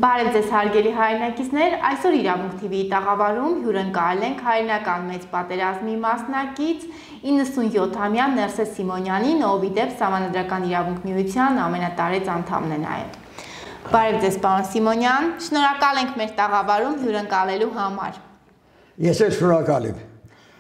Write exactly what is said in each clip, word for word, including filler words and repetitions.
Բարև ձեզ հարգելի հայրենակիցներ, այսօր Իրավունք T V-ի տաղավարում հյուրընկալել ենք հայրենական մեծ պատերազմի մասնակից իննսունյոթամյա Ներսես Սիմոնյանին, ով ի դեպ Սահմանադրական իրավունք միության ամենատարեց անդամն է նաև։ Բարև ձեզ, պարոն Սիմոնյան, շնորհակալ ենք մեր տաղավարում հյուրընկալելու համար։ Ես էլ շնորհակալ եմ։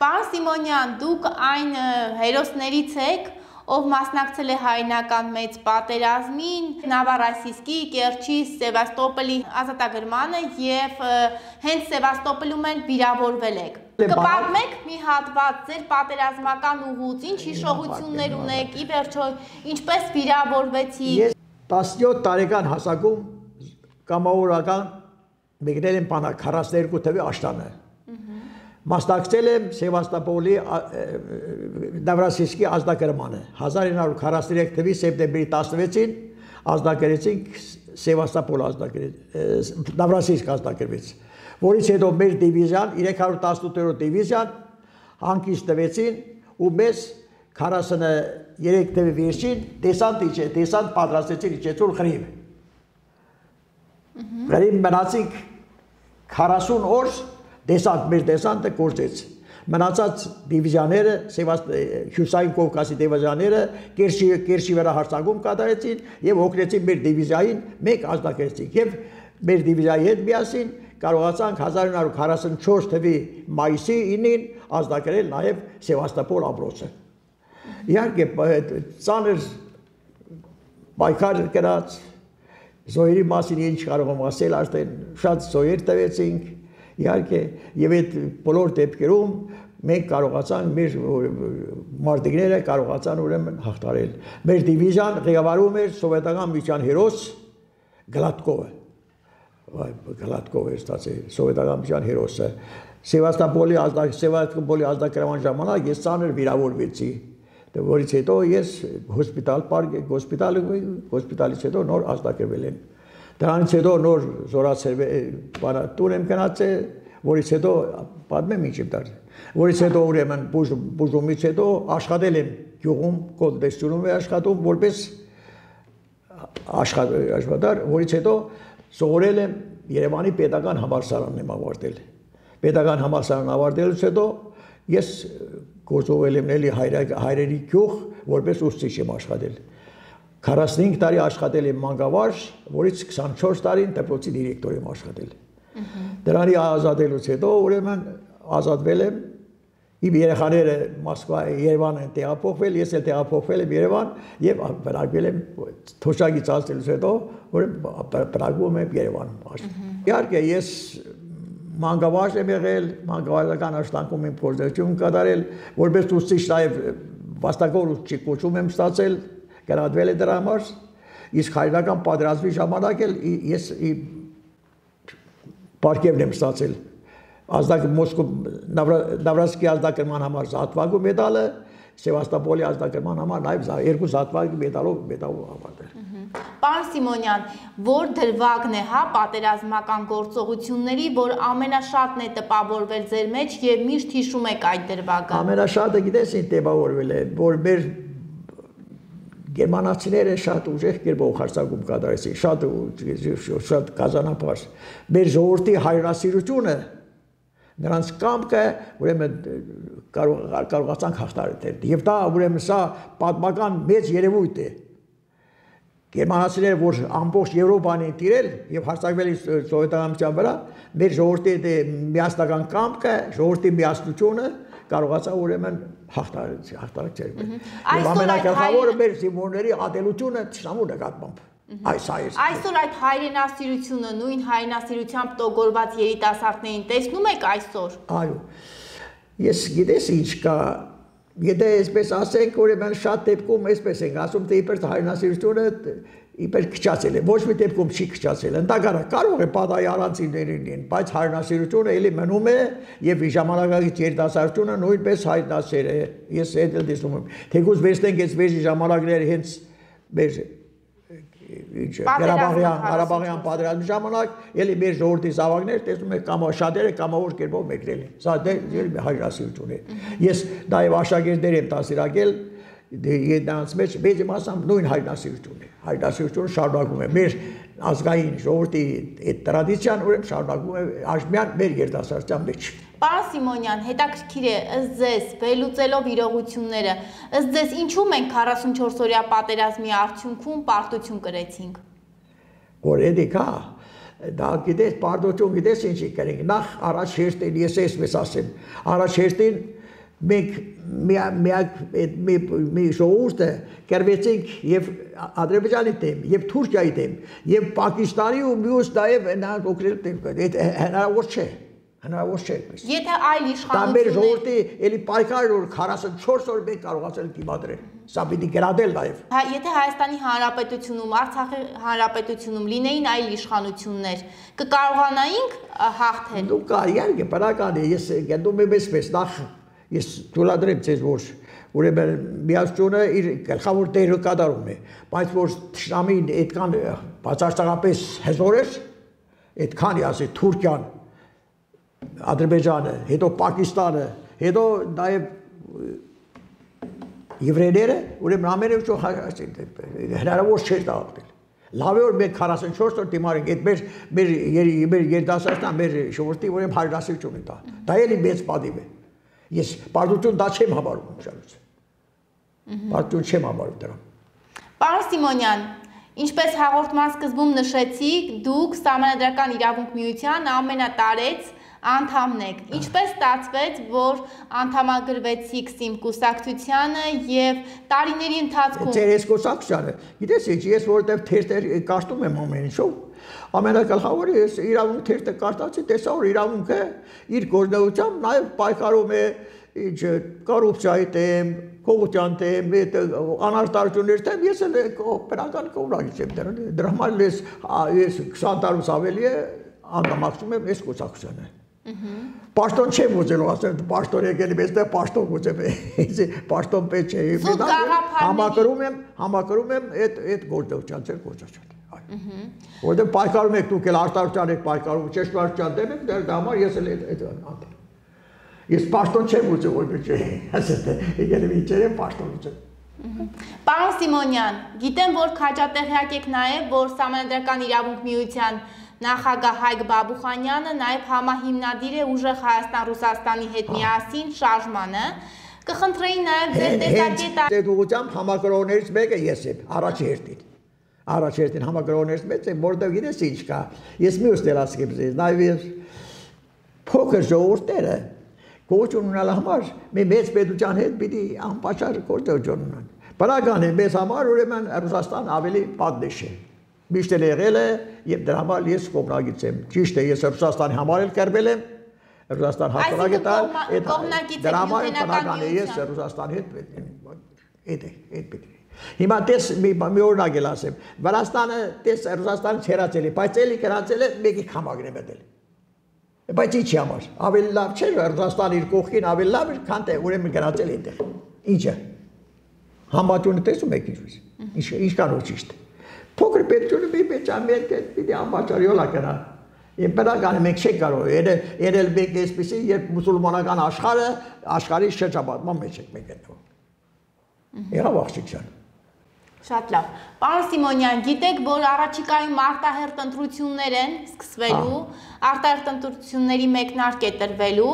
Պարոն Սիմոնյան, դուք այն հերոսներից եք, ով մասնակցել է հայրենական մեծ պատերազմին, Նավառայսիսկի, Կերչի, Սևաստոպոլի ազատագրմանը եւ հենց Սևաստոպոլում էլ վիրավորվել եք։ Կպատմեք մի հատված ձեր պատերազմական ուղուց, ինչ հիշողություններ ունեք, ի վերջո ինչպես վիրավորվեցիք։ Ես տասնյոթ տարեկան հասակում կամավորական մեկնել եմ բանակ քառասուններկու թվի աշտանը։ Մասնակցել եմ Սևաստոպոլի Նավառայսիսկի ազատագրմանը։ հազար ինը հարյուր քառասուններեք թվականի սեպտեմբերի տասնվեցին ազատագրեցինք Սևաստոպոլ ազատագրեց, Նավառայսիսկ ազատագրվեց, որից հետո մեր դիվիզիան երեք հարյուր տասնութերորդ դիվիզիան հանգիստ տվեցին ու մեզ քառասուններեք թվականի վերջին դեսանտ իջե, դեսանտ պատրաստեցին իջեցուր Ղրիմ։ Ղրիմ մնացինք քառասուն օր դեսանտ, մեր դեսանտը գործեց։ Մնացած դիվիզիաները, Հյուսային Կովկասի դիվիզիաները Կերչի վրա հարձակում կատարեցին եւ օգնեցին մեր դիվիզիային, մենք ազատագրեցինք եւ մեր դիվիզիայի հետ միասին կարողացանք հազար ինը հարյուր քառասունչորս թվականի մայիսի ինին ազատագրել նաեւ Սևաստոպոլ ամրոցը։ Իհարկե ծանր պայքար կրած, զոհերի մասին ինչ կարող եմ ասել, արդեն շատ զոհեր տվեցինք։ Իհարկե, եւ այդ բոլոր դեպքերում մենք կարողացանք մեր մարտիկները կարողացան ուրեմն հաղթարել։ Մեր դիվիզիան ղեկավարում էր սովետական միության հերոս Գլատկովը։ Վայ, Գլատկովը ստացել սովետական միության հերոսը։ Սևաստոպոլի Սևաստոպոլի ազատագրման ժամանակ ես ծանր վիրավորվեցի, որից հետո ես հոսպիտալ պարկ հոսպիտալ հոսպիտալից հետո նոր ազատագրվել եմ։ Դրանից հետո նոր զորացել տուն եմ գնացել, որից հետո պատմեմ ինչ եմ դարձել, որից հետո ուրեմն բուժումից հետո աշխատել եմ գյուղում, կոլտեստունում եմ աշխատում, որպես աշխատատար, որից հետո սովորել եմ Երևանի պետական համալսարանն եմ ավարտել։ Պետական համալսարան ավարտելուց հետո ես գործողել եմ էլի հայրերի գյուղ, որպես ուսուցիչ եմ աշխատել։ քառասունհինգ տարի աշխատել եմ մանկավարժ, որից քսանչորս տարին դպրոցի դիրեկտոր եմ աշխատել։ Դրանի ազատելուց հետո ուրեմն ազատվել եմ, իմ երեխաները Մոսկվա, Երևան են տեղափոխվել, ես էլ տեղափոխվել եմ Երևան եւ բնակվել եմ թոշակից ազատելուց հետո ուրեմն բնակվում եմ Երևանում։ Իհարկե ես մանկավարժ եմ եղել, մանկավարժական աշխատանքում եմ փորձություն կատարել, որպես ուսուցիչ նաեւ վաստակավոր ուսուցիչ կոչում եմ ստացել։ Գնահատվել է դրա համար, իսկ հայրենական պատերազմի ժամանակ էլ ես պարգևն եմ ստացել Նավառայսիսկի ազատագրման համար զատվագու մեդալը, Սևաստոպոլի ազատագրման համար նաև երկու զատվագու մեդալով մեդալով ավարտել։ Պարոն Սիմոնյան, որ դրվագն է, հա, պատերազմական գործողությունների, որ ամենաշատն է տպավորվել ձեր մեջ եւ միշտ հիշում եք այդ դրվագը։ Ամենաշատը գիտես ինչ տպավորվել է, որ մեր Գերմանացիները շատ ուժեղ կերպով հարձակում կատարեցին, շատ շատ կազանապար։ Մեր ժողովրդի հայրենասիրությունը, նրանց կամքը ուրեմն կարողացանք հաղթահարել։ Եվ դա ուրեմն սա պատմական մեծ երևույթ է։ Գերմանացիները, որ ամբողջ Եվրոպան են տիրել եւ հարձակվել են սովետական միության վրա, մեր ժողովրդի միասնական կամքը, ժողովրդի միասնությունը կարողացա ուրեմն հաղթարել հաղթարել։ Եվ ամենակարևորը մեր զինվորների ատելությունը ճշտամու նկատմամբ։ Այս այս այսօր այդ հայրենասիրությունը, նույն հայրենասիրությամբ տոգորված երիտասարդներին տեսնում եք այսօր։ Այո։ Ես գիտես ինչ կա, եթե այսպես ասենք, ուրեմն շատ դեպքում այսպես ենք ասում, թե իբր հայրենասիրությունը իբր քչացել է, ոչ մի դեպքում չի քչացել, ընդհանրապես կարող է պատահի առանցիներին լինեն, բայց հայրենասիրությունը էլի մնում է եւ ժամանակակից երիտասարդությունը նույնպես հայրենասեր է։ Ես այդ էլ տեսնում եմ։ Թեկուզ վերցնենք այս վերջի ժամանակները հենց մեր ինչ Ղարաբաղյան, Ղարաբաղյան պատերազմի ժամանակ էլի մեր ժողովրդի զավակներ տեսնում եք կամ շատերը կամավոր կերպով մեկնել են։ Սա դե հայրենասիրություն է։ Ես նաեւ աշակերտներ եմ դասիրակել Դրանց մեջ մեծ մասամբ նույն հայրենասիրությունն է։ Հայրենասիրությունը շարունակում է։ Մեր ազգային ժողովրդի այդ տրադիցիան ուրեմն շարունակվում է Աշմյան մեր երիտասարդության մեջ։ Պարոն Սիմոնյան, հետաքրքիր է ըստ ձեզ վերլուծելով իրողությունները, ըստ ձեզ ինչու մենք քառասունչորս-օրյա պատերազմի արդյունքում պարտություն կրեցինք։ Որ էդիկա դա գիտես պարտություն գիտես ինչի կրենք նախ առաջ հերթին ես էսպես ասեմ առաջ հերթին մենք միակ մի ժողովուրդը կերվեցինք եւ Ադրբեջանի դեմ եւ Թուրքիայի դեմ եւ Պակիստանի ու մյուս նաեւ նրանք օգնել դեմ հնարավոր չէ հնարավոր չէ եթե այլ իշխանություններ դա մեր ժողովրդի էլի պայքարը որ քառասունչորս օր մենք կարողացել դիմադրել սա պիտի գրադել նաեւ եթե Հայաստանի Հանրապետությունում Արցախի Հանրապետությունում լինեին այլ իշխանություններ կկարողանայինք հաղթել դու կա իհարկե բնական է ես գտնում եմ այսպես նախ ես թույլատրեմ ձեզ որ ուրեմն միացությունը իր գլխավոր դերը կատարում է բայց որ շամին այդքան բացարձակապես հզոր է այդքան ասի Թուրքիան Ադրբեջանը, հետո Պակիստանը, հետո նաև եվրեյները, ուրեմն ամենը ինչ հնարավոր չէր դաղել։ Լավ է որ մենք քառասունչորս օր դիմարենք, այդ մեր մեր մեր երիտասարդան, մեր ժողովրդի ուրեմն հարդասություն է դա։ Դա էլի մեծ պատիվ է։ Ես պարտություն դա չեմ համարում շարուց։ Պարտություն չեմ համարում դրան։ Պարոն Սիմոնյան, ինչպես հաղորդման սկզբում նշեցիք, դուք Սահմանադրական իրավունք միության ամենատարեց անդամն եք։ Ինչպես ստացվեց, որ անդամագրվեցիք Սիմ կուսակցությանը եւ տարիների ընթացքում Ձեր այս կուսակցությանը, գիտես ինչ, ես որովհետեւ թերթեր կաշտում եմ ամեն ինչով, ամենակարևորը ես իրավունք թերթը կաշտացի, տեսա որ իրավունքը իր գործունեությամբ նաեւ պայքարում է ինչ կոռուպցիայի դեմ, կողության դեմ, անարտարությունների դեմ, ես էլ բնական կողմնակից եմ դրան, դրա համար ես ես քսան տարուց ավելի է անդամակցում եմ այս կուսակցությանը։ Պաշտոն չեմ ուզելու, ասեմ, պաշտոն եկել եմ, այստեղ պաշտոն ուզեմ, պաշտոն պետք չէ։ Համակրում եմ, համակրում եմ այդ այդ գործողության, ձեր գործողության։ Որտեղ պայքարում եք դուք էլ արտարության եք պայքարում, ճշմարտության դեմ եք, դրա համար ես էլ այդ անդամ։ Ես պաշտոն չեմ ուզում, որ չէ, ասես եկել եմ ինչեր եմ պաշտոն ուզում։ Պարոն Սիմոնյան, գիտեմ, որ քաջատեղյակ եք նաև, որ Սահմանադրական իրավունք միության նախագահ Հայկ Բաբուխանյանը նաև համահիմնադիր է ուժեղ Հայաստան-Ռուսաստանի հետ միասին շարժմանը, կխնդրեի նաև ձեր տեսակետը։ Այդ ուղղությամբ համակրողներից մեկը ես եմ, առաջ հերթին։ Առաջ հերթին համակրողներից մեկը եմ, որտեղ գիտես ինչ կա։ Ես մյուս դեր ասեմ ձեզ, նաև փոքր ժողովուրդները գործուն ունենալ համար մի մեծ պետության հետ պիտի անպաշար գործողություն ունենան։ Բնական է մեզ համար ուրեմն Ռուսաստան ավելի պատնեշ է։ Միշտ էլ եղել է եւ դրա համար ես կողմնակից եմ։ Ճիշտ է, ես Ռուսաստանի համար էլ կերվել եմ։ Ռուսաստան հաստատակ է տալ, այդ դրա համար բնական է ես Ռուսաստանի հետ այդ է, այդ պետք է։ Հիմա տես մի օրինակ էլ ասեմ։ Վրաստանը տես Ռուսաստանից հեռացել է, բայց էլի գնացել է մեկի քամագն է մտել։ Բայց ինչի համար։ Ավելի լավ չէ Ռուսաստանի իր կողքին ավելի լավ էր, քան թե ուրեմն գնացել այնտեղ։ Ինչը։ Համբատյունը տեսում եք ինչպես։ Ինչ ինչքան որ ճիշտ։ Փոքր պետությունը մի պետք է պիտի անպատճառ յոլա կնա։ Եվ բնական է մենք չենք կարող երել մենք այսպեսի, երբ մուսուլմանական աշխարհը աշխարհի շրջապատման մեջ ենք մենք գտնվում։ Եղավ աղջիկ ջան։ Շատ լավ։ Պարոն Սիմոնյան, գիտեք, որ առաջիկայում արտահերթ ընտրություններ են սկսվելու, արտահերթ ընտրությունների մեկնարկ է տրվելու։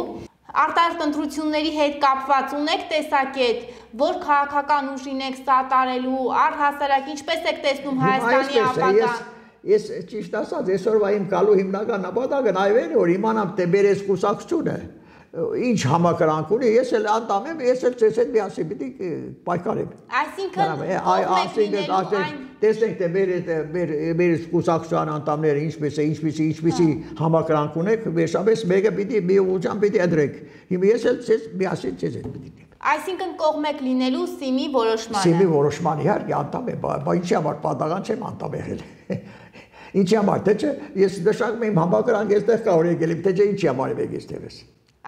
Արտահերթ ընտրությունների հետ կապված ունեք տեսակետ, որ քաղաքական ուժին եք սատարելու, առհասարակ ինչպես եք տեսնում Հայաստանի ապագան։ Ես ճիշտ ասած, այսօրվա իմ գալու հիմնական նպատակը նաև է, որ իմանամ թե մեր այս կուսակցությունը ինչ համակրանք ունի, ես էլ անդամ եմ, ես էլ ձեզ հետ միասին պիտի պայքարեմ։ Այսինքն տեսնենք թե մեր մեր կուսակցության անդամները ինչպես է, ինչպեսի, ինչպեսի համակրանք ունեք, վերջապես մեկը պիտի մի ուղղությամբ պիտի ընտրենք։ Հիմա ես էլ ձեզ միասին ձեզ հետ պիտի դեմ։ Այսինքն կողմեք լինելու Սիմի որոշմանը։ Սիմի որոշման իհարկե անդամ եմ, բայց ինչի համար պատահական չեմ անդամ եղել։ Ինչի համար, թե չէ, ես նշանակում եմ համակրանք այստեղ կարող եկել եմ, թե չէ ինչի համար եմ եկել այստեղս։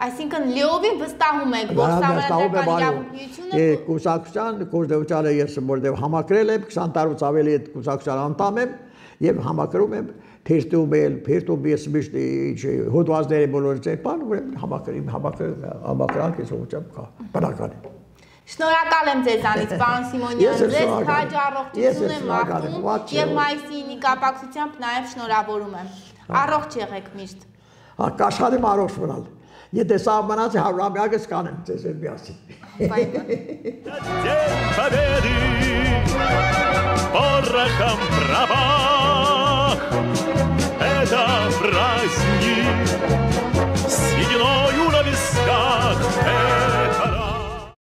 Այսինքն լիովին վստահում եք, որ Սահմանադրական իրավունք միությունը կուսակցության գործողությանը ես որտեղ համակրել եմ, քսան տարուց ավելի այդ կուսակցության անդամ եմ եւ համակրում եմ թերթում էլ, փերթում ես միշտ հոդվածները բոլորից են բան, ուրեմն համակրում, համակրում, համակրանք ես ուղղությամբ կա, բնական է։ Շնորհակալ եմ ձեզանից, պարոն Սիմոնյան, ձեզ քաջ առողջություն եմ մաղթում եւ մայիսի կապակցությամբ նաեւ շնորհավորում եմ։ Առողջ եղեք միշտ։ Հա, կաշխատեմ առողջ մնալ։ Եթե սա մնաց հարյուրամյակս կանեմ ձեզ հետ միասին։ Bye bye.